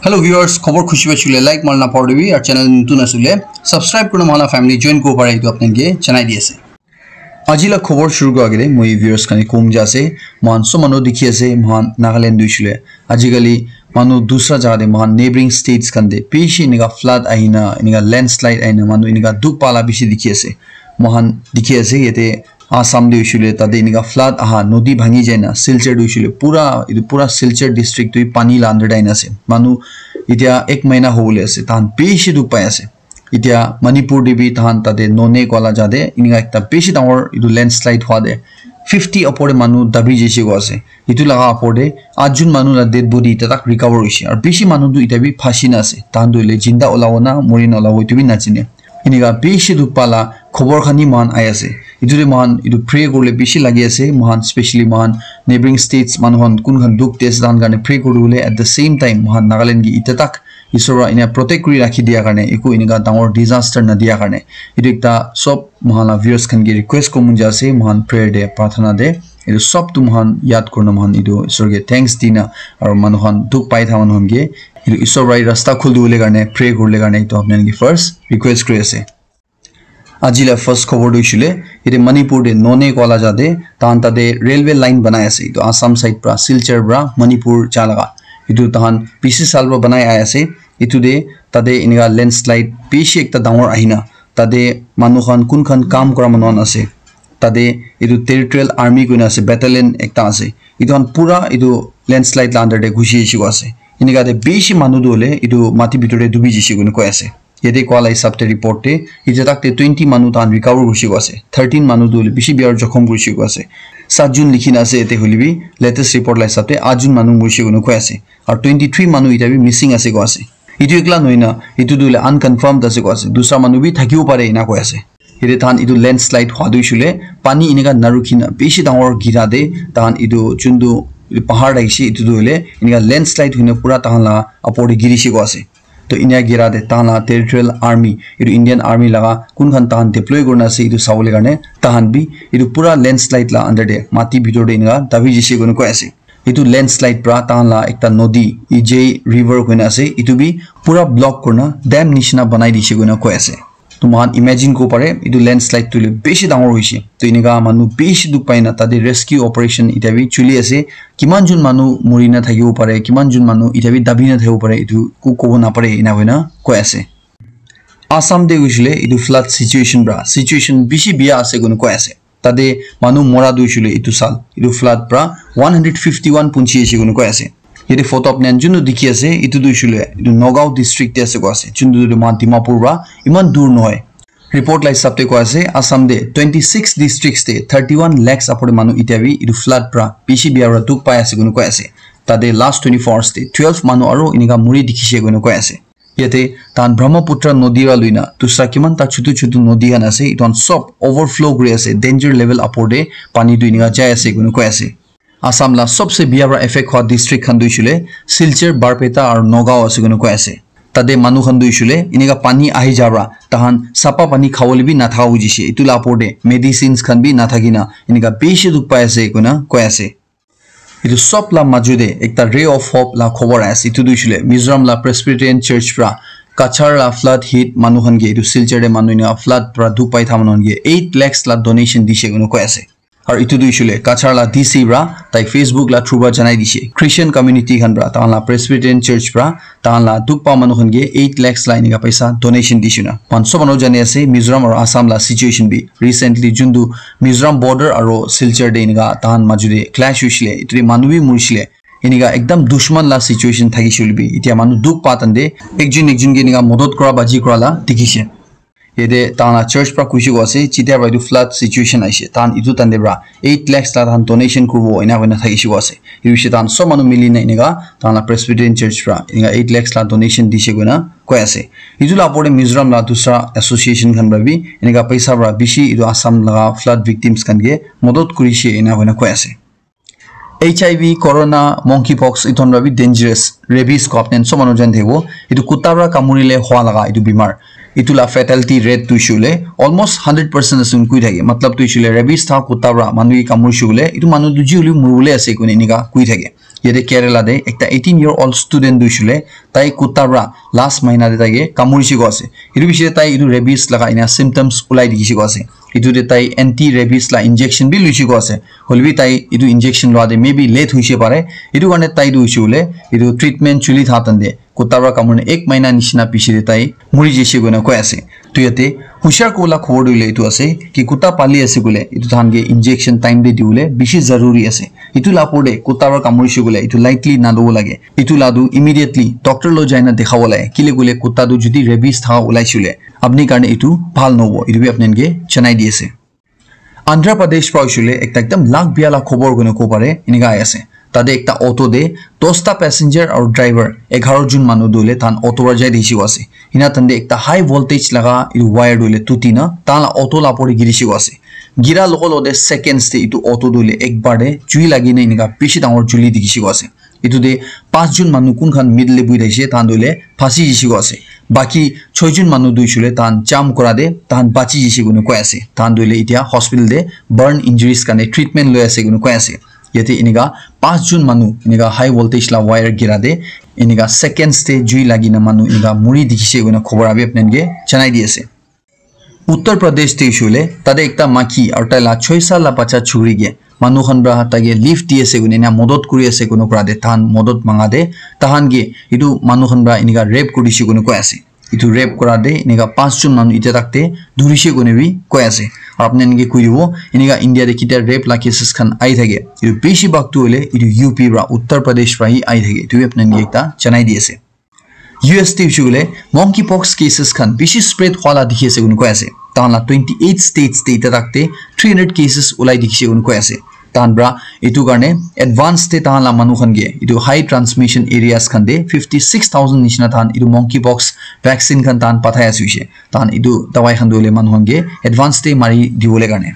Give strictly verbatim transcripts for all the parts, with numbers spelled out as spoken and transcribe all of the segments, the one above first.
Hello viewers, khobor khushi paishe koile like marina napahoribi, aru channel notun ase koile subscribe kurina mohan la family join kuribo pare, etu apni khan ke janai di ase. Aji la khobor shuru kura agete moi viewers khan ke kom ja ase, mohan sob manu dikhi ase, mohan Nagaland tu hoishe koile ajikali manu dusra jaga te, mohan neighboring states khan te bishi enika flood ahina, enika landslide ahina manu enika dukh pala bishi dikhi ase. Mohan dikhi ase yate Assam te hoishe koile tate enika flood aha, nodi bhangi jaina, Silchar tu hoishe koile pura, etu pura Silchar district tu pani la under te ahina ase. Manu etia ek mahina hobole ase, tahan bishi dukh pai ase. Etia Manipur te bi tahan tate Noney koa la jaga te enika ekta bishi dangor etu landslide hwa te fifty upor te manu dabi jaise koa ase. Etu laga upor te atjun manu la dead body etia tak recover hoishe. Aru bishi manu tu etia bi phansi na ase. Tahan tu hoile jinda olabo na mori na olabo etu bi najane. Enika bishi dukh pala khobor khan hi mohan ahi ase. Etu te mohan etu pray kuribole bishi lagi ase. Mohan specially mohan neighboring states manu khan kun khan dukh te ase tahan karne pray kuribole, at the same time mohan Nagaland ke etia tak Isor para ena protect kuri rakhi dia karne, eku enika dangor disaster na dia karne. Etu ekta sob mohan la viewers khan ke request kuribo mon ja ase, mohan prayer te, prarthana te, etu sob tu mohan yad kurina mohan etu Isor ke thanks dina, aru manu khan dukh pai thaka manu khan ke etu Isor para rasta khuli dibole karne pray kuribole karne etu apni khan ke first request kuri ase. Aji la first khobor tu hoishe koile, yate Manipur te Noney koa la jaga te, tahan tate railway line banai ase. Etu Assam side pra, Silchar pra Manipur ja laga. Etu tahan bishi saal pra banai ahi ase. Etu te tate enika landslide bishi ekta dangor ahina, tate manu khan kun khan kam kura manu khan ase. Tate etu territorial army koina ase, battalion ekta ase. Etu khan pura etu landslide la under te ghusi jaise koa ase. Enika te bishi manu tu hoile etu mati bitor te dubi jaise koina koi ase. Yate koa la hisab te report te, etia tak te twenty manu tahan recover kurishe koa ase. Thirteen manu tu hoile bishi bia para jokhom kurishe koa ase. Saat jun likhi na ase yate hoile bi, latest report la hisab te aat jun manu murishe koina koi ase. Aru twenty three manu etia bi missing ase koa ase. Etu ekla nohoi na, etu tu hoile unconfirmed ase koa ase. Dusra manu bi thakibo pare ena koi ase. Yate tahan etu landslide hwa tu hoishe koile, pani enika narukhi na bishi dangor gira te, tahan etu juntu pahar thakishe, etu tu hoile enika landslide hoina pura tahan la upor te girishe koa ase. To India gira te tahan la territorial army, etu Indian army laga kun khan tahan deploy kurina ase etu sabole karne, tahan bi etu pura landslide la under te mati bitor te enika dabi jaise koina koi ase. Etu landslide pra tahan la ekta nodi, Ijai River koina ase, etu bi pura block kurina dam nishina banai dise koina koi ase. To moikhan imagine kuribo pare, etu landslide tu hoile bishi dangor hoishe. To enika manu bishi dukh pai na tate rescue operation etia bi chuli ase. Kiman jun manu muri na thakibo pare, kiman jun manu etia bi dabi na thakibo pare, etu eku kobo napare, ena koina koi ase. Assam te hoishe koile etu flood situation pra, situation bishi bia ase koina koi ase. Tate manu mora tu hoishe koile etu saal, etu flood pra one hundred fifty one punchi ase koina koi ase. Yate photo apni khan juntu dikhi ase, etu tu hoishe koile etu Nagaon district te ase koa ase, juntu tu moikhan Dimapur pra iman dur nohoi. Report la hisab te koa ase, Assam te twenty six districts te thirty one lakhs upor te manu etia bi etu flood pra bishi bia pra dukh pai ase koina koi ase. Tate last twenty four hours te twelve manu aru enika muri dikhishe koina koi ase. Yate tahan Brahmaputra nodi pra luina dusra kiman ta chutu chutu nodi khan ase, etu khan sob overflow kuri ase, danger level upor te pani tu enika jai ase koina koi ase. Assam la sobse bia pra effect hwa district khan tu hoishe koile Silchar, Barpeta aru Nagaon ase koina koi ase. Tate manu khan tu hoishe koile enika pani ahi ja pra tahan sapa pani khabole bi nathaka hoi jaise, etu la upor te medicines khan bi nathaki na enika bishi dukh pai ase koina koi ase. Etu sob la maju te ekta ray of hope la khobor ahi ase. Etu tu hoishe koile Mizoram la Presbyterian Church pra Cachar la flood hit manu khan ke, etu Silchar te manu enika flood pra dukh pai tha manu khan ke eight lakhs la donation dise koina koi ase. Aru etu tu hoishe koile Cachar la D C pra tai Facebook la through pra janai dise. Christian community khan pra, tahan la Presbyterian Church pra, tahan la dukh pa manu khan ke eight lakhs la enika paisa donation dise na. Moikhan sob manu jani ase Mizoram aru Assam la situation bi. Recently juntu Mizoram border aru Silchar te enika tahan maju te clash hoishe koile, etu te manu bi murishe koile, enika ekdam dushman la situation thakishe koile bi, etia manu dukh pa time te ekjun ekjun ke enika modot kura baji kura la dikhishe. Yate tahan la church pra kuishe koa ase, jetia pra etu flood situation ahishe, tahan etu time te pra eight lakhs la tahan donation kuribo ena koina thakishe koa ase. Etu bishi tahan sob manu mili na enika tahan la Presbyterian Church pra enika eight lakhs la donation dise koina koi ase. Etu la upor te Mizoram la dusra association khan pra bi enika paisa pra bishi etu Assam laga flood victims khan ke modot kurishe ena koina koi ase. H I V, corona, monkeypox, etu khan pra bi dangerous, rabies koa apni khan sob manu jani thakibo. Etu kutta pra kamurile hwa laga etu bimar. Etu la fatality rate tu hoishe koile almost hundred percent ase koina koi thake. Matlab tu hoishe koile rabies tha kutta pra manu ke kamurishe koile, etu manu tu ji hoile bi muribole ase koina enika koi thake. Yate Kerala te ekta eighteen year old student tu hoishe koile tai kutta pra last mahina te taike kamurishe koa ase. Etu piche te tai etu rabies laga ena symptoms ulai dikhishe koa ase. Etu te tai anti rabies la injection bi luishe koa ase. Hoilebi tai etu injection lua te maybe late hoishe pare. Etu karne tai tu hoishe koile etu treatment chuli tha tan te kutta pra kamurina ek mahina nishina piche te tai muri jaishe koina koi ase. To yate hushar kobo la khobor tu hoile etu ase ki kutta pali ase koile etu tahan ke injection time te dibole bishi zaruri ase. Etu la opor te kutta pra kamurishe koile etu lightly nalobo lage. Etu la tu immediately doctor lo jaina dekhabo lage. Kile koile kutta tu jodi rabies thaka ulaishe koile apni karne etu bhal nohobo. Etu bi apni khan ke janai di ase. Andhra Pradesh pra hoishe koile ekta ekdam lak bia la khobor koina kobo pare, enika ahi ase. Tate ekta auto te dosta passenger aru driver egharo jon manu tu hoile tahan auto pra jai dikhishe koa ase. Ena tahan te ekta high voltage laga etu wire tu hoile tuti na tahan la auto la opor te girishe koa ase. Gira logo logo te seconds te etu auto tu hoile ekbar te jui lagi na enika bishi dangor juli dikhishe koa ase. Etu te pas jon manu kun khan middle te buhi thakishe, tahan tu hoile phasi jishe koa ase. Baki choi jon manu tu hoishe koile tahan jump kora te tahan bachi jishe koina koi ase. Tahan tu hoile etia hospital te burn injuries karne treatment loi ase koina koi ase. Yate enika pas jon manu enika high voltage la wire gira te enika seconds te jui lagi na manu enika muri dikhishe koina khobor abi apni khan ke janai di ase. Uttar Pradesh te hoishe koile tate ekta maiki aru tai la choi sal la bacha chukri ke manu khan pra taike lift di ase koina ena modot kuri ase koina kora te tahan modot manga te tahan ke etu manu khan pra enika rape kuri dishe koina koi ase. Etu rape kora te enika pas jon manu etia tak te dhurishe koina bi koi ase. Aru apni khan ke koi dibo enika India te ketia rape la cases khan ahi thake. Etu bishi bhag tu hoile etu U P pra Uttar Pradesh pra hi ahi thake. Etu bi apni khan ke ekta janai di ase. U S te hoishe koile monkeypox cases khan bishi spread hwa la dikhi ase koina koi ase. Tahan la twenty eight states te etia tak te three hundred cases ulai dikhishe koina koi ase. Tahan pra etu karne advance te tahan la manu khan ke etu high transmission areas khan te fifty six thousand nishina tahan etu monkeypox vaccine khan tahan pathai ase hoishe. Tahan etu dawai khan tu hoile manu khan ke advance te mari dibole karne.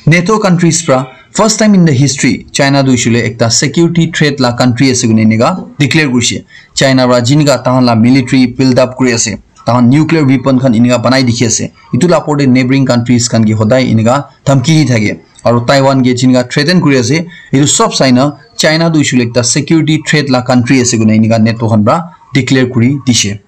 NATO countries pra first time in the history China tu hoishe koile ekta security threat la country ase koina enika declare kurishe. China pra jinika tahan la military build up kuri ase, tahan nuclear weapon khan enika banai dikhi ase, etu la opor te neighboring countries khan ke hodai enika dhamki di thake. Aru Taiwan ke jinika threaten kuri ase, etu sob sai na China tu hoishe koile ekta security threat la country ase koina enika NATO khan pra declare kuri dishe.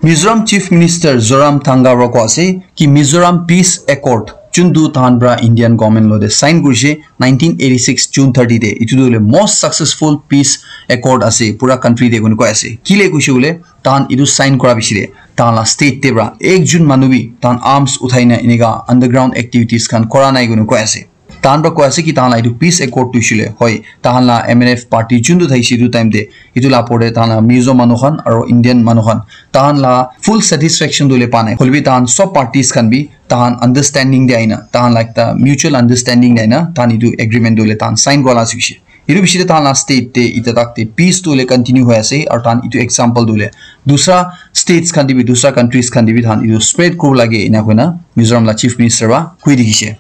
Mizoram Chief Minister Zoram Thanga pra koi ase ki Mizoram Peace Accord chuntu tahan pra Indian government lo te sign kurishe nineteen eighty six June thirty te, etu tu hoile most successful peace accord ase pura country te koina koi ase. Kile koishe koile tahan etu sign kora piche te tahan la state te pra ek jon manu bi tahan arms uthai na enika underground activities khan kora nai koina koi ase. Tahan pra koi ase ki tahan la etu peace accord tu hoishe koile, hoi, tahan la M N F party chuntu thakishe etu time te, etu la opor te tahan la Mizo manu khan aru Indian manu khan, tahan la full satisfaction tu hoile pa nai. Hoilebi tahan sob parties khan bi tahan understanding te aina, tahan la ekta mutual understanding te aina, tahan etu agreement tu hoile tahan sign kora la ase hoishe. Etu piche te tahan la state te etia tak te peace tu hoile continue hoi ase, aru tahan etu example tu hoile dusra states khan te bi, dusra countries khan te bi tahan etu spread kuribo lage ena koina Mizoram la Chief Minister pra koi dikhishe.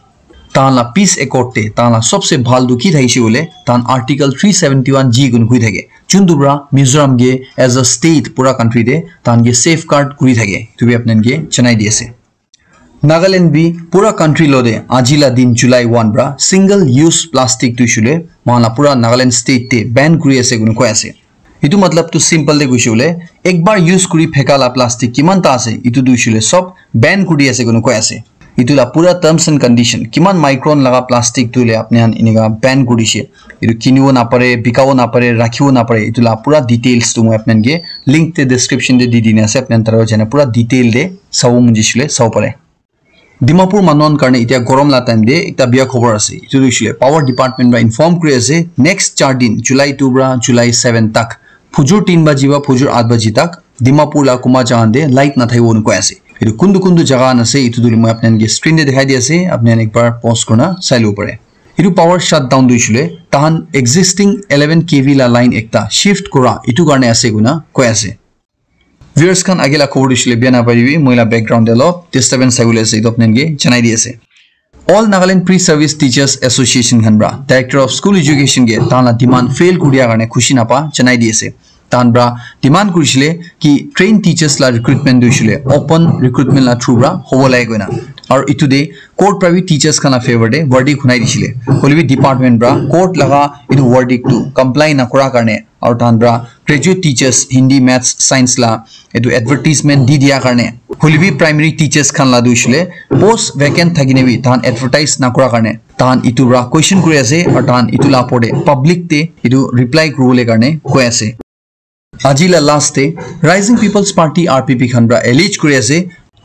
Tahan la peace accord te tahan la sobse bhal tu ki thakishe koile, tahan Article three seventy one G koina koi thake. Chuntu pra Mizoram ke as a state pura country te tahan ke safeguard kuri thake. Etu bi apni khan ke janai di ase. Nagaland bi pura country lo te aji la din July one pra single use plastic tu hoishe koile moikhan la pura Nagaland state te ban kuri ase koina koi ase. Etu matlab tu simple te koishe koile, ekbar use kuri pheka la plastic kiman ta ase, etu tu hoishe koile sob ban kuri ase koina koi ase. Etu la pura terms and condition, kiman micron laga plastic tu hoile apni khan enika ban kuri dishe. Etu kinibo napare, bikabo napare, rakhibo napare, etu la pura details tu moi apni khan ke link te description te di dina ase, apni khan tar jai na pura detail te sabo mon jaishe koile sabo pare. Dimapur manu khan karne etia gorom la time te ekta bia khobor ase. Etu tu hoishe koile power department pra inform kuri ase, next char din, July two pra July seven tak, phujur tin baji pra phujur aath baji tak, Dimapur la kunba jaga khan te light nathakibo koina koi ase. Etu kuntu kuntu jaga khan ase, etu tu moi apni khan ke screen te dikhai di ase, apni khan ekbar pause kurina sai lobo pare. Etu power shutdown tu hoishe koile, tahan existing eleven K V la line ekta shift kura, etu karne ase koina koi ase. Viewers khan, age la khobor tu hoishe koile bia naparibi, moi la background te olop disturbance ahi bole ase, etu apni khan ke janai di ase. All Nagaland Pre-Service Teachers Association khan pra Director of School Education ke tahan la demand fail kuri dia karne khushi napa janai di ase. Tahan pra demand kurishe koile ki trained teachers la recruitment tu hoishe koile open recruitment la through pra hobo lage koina. Aru etu te court para bi teachers khan la favour te verdict hunai dishile. Hoile bi department para court laga etu verdict tu comply nakura karne aru tahan para graduate teachers Hindi, Maths, Science la etu advertisement di dia karne, hoile bi primary teachers khan la tu hoishile post vacant thakine bi tahan advertise nakura karne tahan etu para question kuri ase aru tahan etu la opor te public te etu reply kuribole karne koi ase. Aji la last te Rising People's Party, R P P khan para allege kuri ase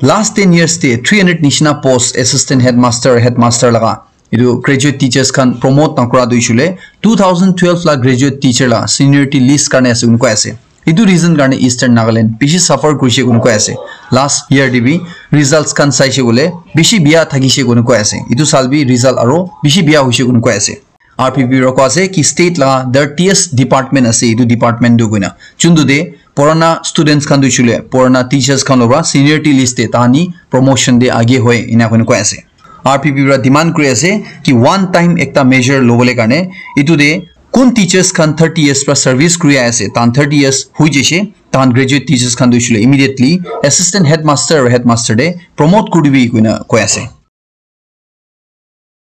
last ten years te three hundred nishina post assistant headmaster, headmaster laga etu graduate teachers khan promote nakura tu hoishile two thousand twelve la graduate teacher la seniority list karne ase koi ase. Etu reason karne Eastern Nagaland bishi suffer kurishe koi ase. Last year te bi results khan saishe koile bishi bia thakishe koi ase. Etu sal bi result aro bishi bia hoishe koi ase. R P P para koi ase ki state la dirtiest department ase etu department tu koina. Juntu te purana students khan tu hoishile purana teachers khan lo para seniority list te tahani promotion te age hoi ena koina koi ase. R P P para demand kuri ase ki one time ekta measure lobole karne etu te kun teachers khan thirty years para service kuri ase tahan thirty years hoi jaise tahan graduate teachers khan tu hoishile immediately assistant headmaster aru headmaster te promote kuri dibi koina koi ase.